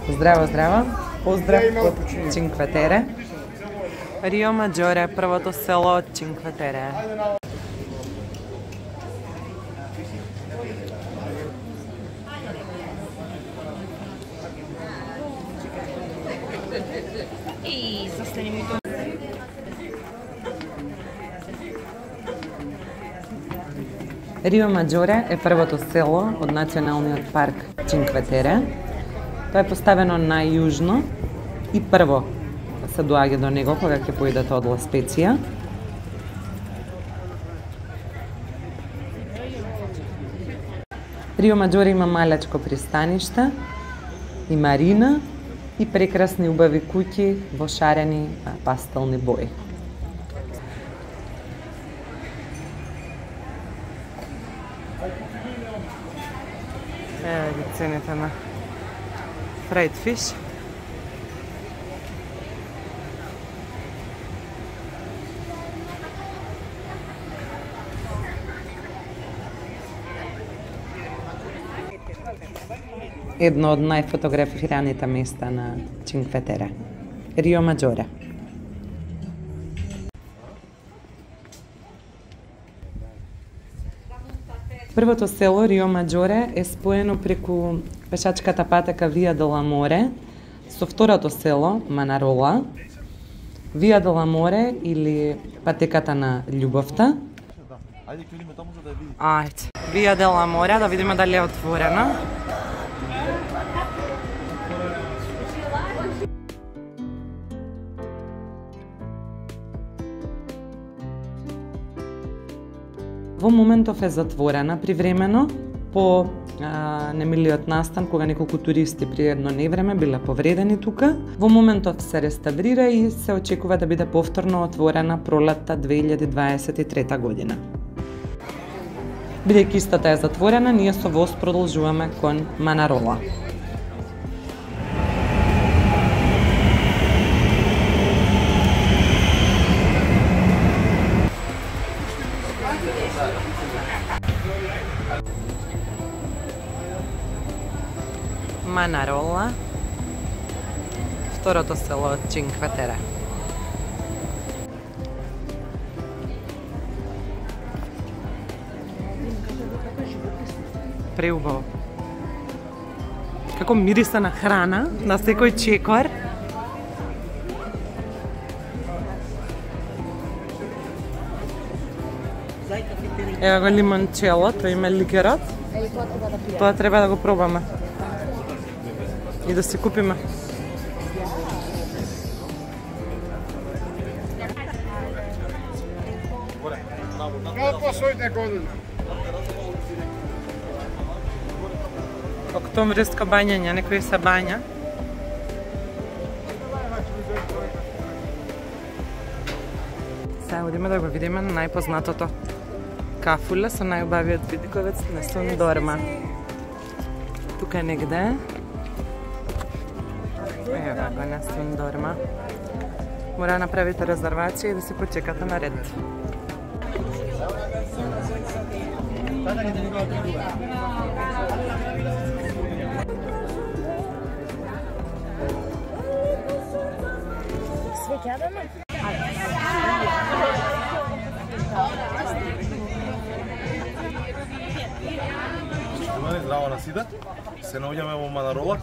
Здраво, здраво. Поздрав од Cinque Terre. Рио Маджоре, првото село од Cinque Terre. Рио Маджоре е првото село од националниот парк Cinque Terre. Тоа е поставено најјужно и прво се доаѓа до него кога ќе поидете од Ла Специја. Рио Маджоре има малечко пристаниште и марина и прекрасни убави куќи во шарени пастелни бои. Еве ги цените на fried fish. Едно од најфотографираните места на Cinque Terre. Рио Маджоре. Првото село Рио Маджоре е споено преку пешачката патека Вија де ла Море со второто село Манарола. Вија де ла Море или патеката на љубовта. Ајде. Вија де ла Море, да видиме дали е отворена. Во моментов е затворена привремено по немилиот настан кога неколку туристи при едно невреме биле повредени тука. Во моментов се реставрира и се очекува да биде повторно отворена пролетта 2023 година. Бидејќи истата е затворена, ние со воз продолжуваме кон Манарола. Манарола, второто село од Cinque Terre. Преубаво. Како мириса на храна, на секој чекор. Ева го лимончело, тоа има ликерот. Тоа треба да го пробаме. И да се купиме. Октомвриска бањање, некој се бања. Сега одиме да го видиме на најпознатото кафуле со најубавиот видиковец на Сундорма. Тука негде. Ева го на Сундорма. Мора да направите резервација и да се почекате на ред. Здраво на сите. Се наоѓаме во Манарола,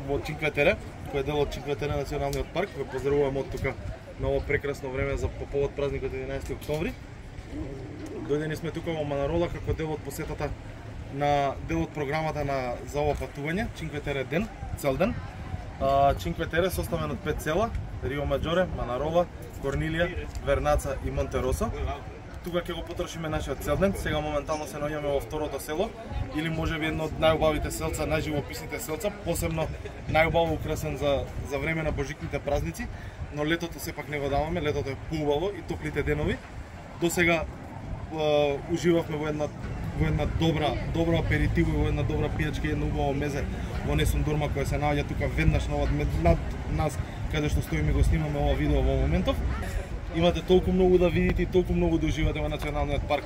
во Cinque Terre, кој е дел од Cinque Terre националниот парк. Ве поздравувам од тука на ово прекрасно време за по повод празникот 11 октомври. Дојдени сме тука во Манарола како дел од посетата на дел од програмата за ова патување, Cinque Terre ден, цел ден. Cinque Terre составен од 5 села: Рио Маджоре, Манарола, Корнилија, Вернаца и Монтеросо. Тука ќе го потрошиме нашиот цел ден. Сега моментално се наоѓаме во второто село, или можеби едно од најубавите селца, најживописните селца, посебно најубаво украсен за време на божикните празници, но летото сепак не го даваме, летото е поубаво и топлите денови. До сега уживавме во една во една добра аперитиво и во една добра пијачка и едно убаво мезе во Несун Дорма која се наоѓа тука веднаш над нас каде што стоиме го снимаме ова видео во моментов. Имате толку многу да видите и толку многу да уживате во националниот парк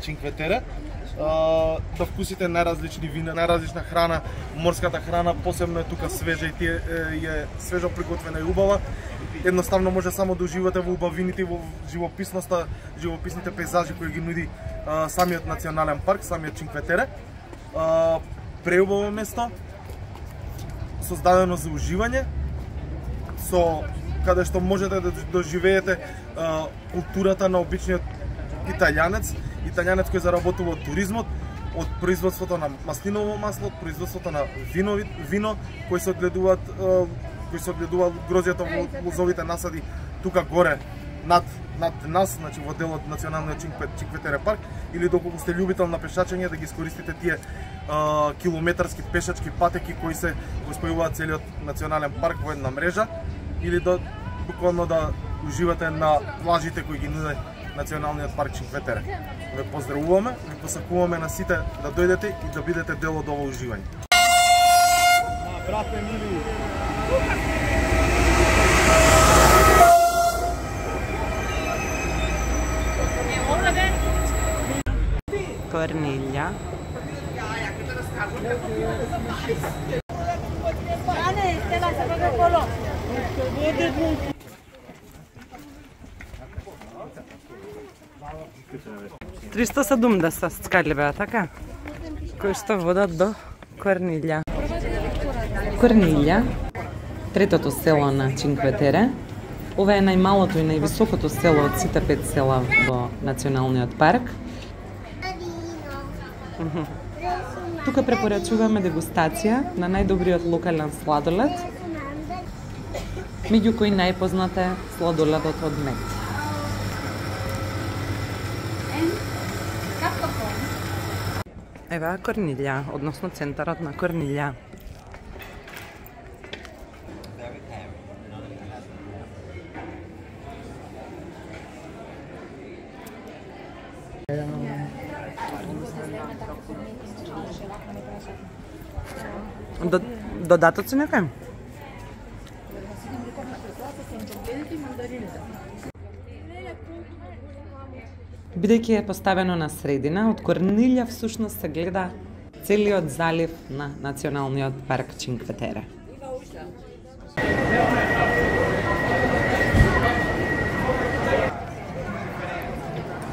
Чинкве Тере. Да вкусите најразлични вина, најразлична храна, морската храна посебно е тука свежа и е свежо приготвена и убава. Едноставно може само да уживате во убавините и во живописноста, живописните пейзажи кои ги нуди самиот национален парк, самиот Чинкве Тере. Преубаво место, создадено за уживање, каде што можете да доживеете културата на обичниот италијанец кој заработува од туризмот, од производството на маслиново масло, од производството на вино кои се одгледуваат грозјето во лозовите насади тука горе над нас, значи во делот националниот Чинкве Тере парк, или доколку сте љубител на пешачење да ги искористите тие километарски пешачки патеки кои се го спојуваат целиот национален парк во една мрежа, или буквално да уживате на плажите кои ги нуди националниот парк Чинкве Тере. Ве поздравуваме, ви посакуваме на сите да дојдете и да бидете дел од ова уживање. Брате мили. Корнилја. Триста 370 скали беа, така? Кои што водат до Корнилја. Корнилја, третото село на Чинкве Тере. Ова е најмалото и највисокото село од сите 5 села во националниот парк. Тука препорачуваме дегустација на најдобриот локален сладолед, меѓу кои најпознат е сладоледот од мед. Ева Корнилја, односно центарот на Корнилја. Додатоци некај? Бидејќи е поставено на средина, од Корнилја всушност се гледа целиот залив на националниот парк Чинкве Тере.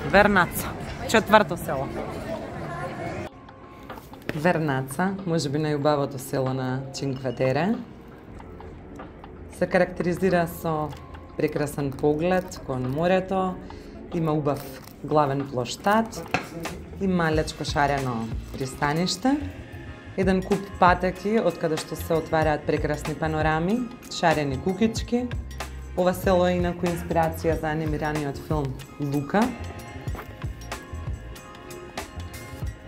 Вернаца, четврто село. Вернаца, можеби најубавото село на Чинкве Тере, се карактеризира со прекрасен поглед кон морето, има убав главен плоштад, има лечко шарено пристаниште, еден куп патеки од каде што се отвараат прекрасни панорами, шарени кукички. Ова село е инаку инспирација за анимираниот филм Лука.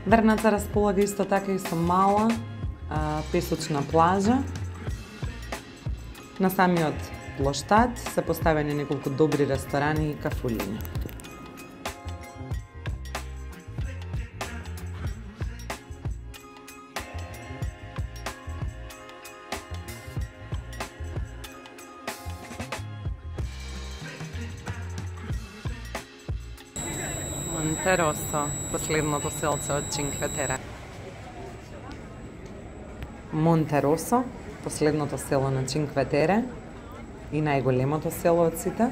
Вернаца располага исто така и со мала песочна плажа. На самиот плоштад се поставени неколку добри ресторани и кафулиња. Монтеросо, последното селце од Чинкве Тере. Монтеросо, последното село на Чинкве Тере и најголемото село од сите.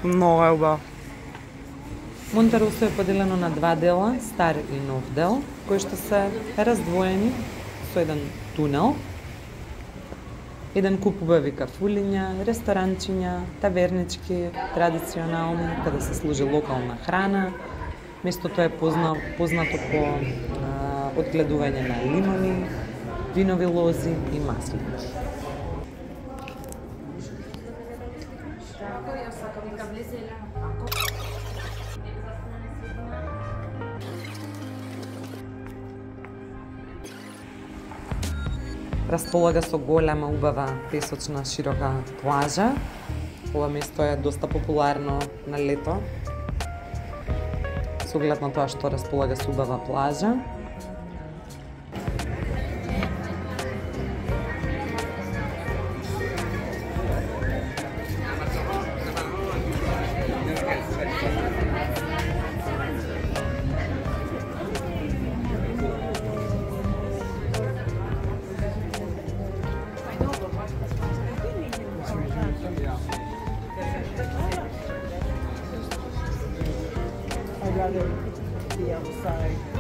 Много е убаво. Монтеросо е поделено на два дела, стар и нов дел, кои што се раздвоени со еден тунел. Еден куп убави кафулиња, ресторанчиња, тавернички, традиционални, каде се служи локална храна. Местото е познато по одгледување на лимони, винови лози и маслини. Располага со голема убава песочна широка плажа Ова место е доста популарно на лето, со оглед на тоа што располага со убава плажа. I'd rather be outside.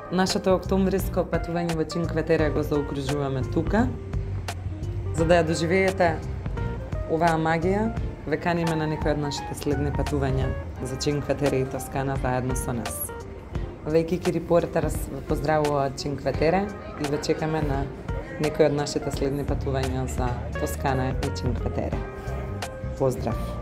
Нашето октомвриско патување во Чинкве Тере го заокружуваме тука. За да ја доживеете оваа магија, ве каниме на некој од нашите следни патувања за Чинкве Тере и Тоскана заедно со нас. Вејкики Репортерс ве поздравува од Чинкве Тере и ве чекаме на некој од нашите следни патувања за Тоскана и Чинкве Тере. Поздрав!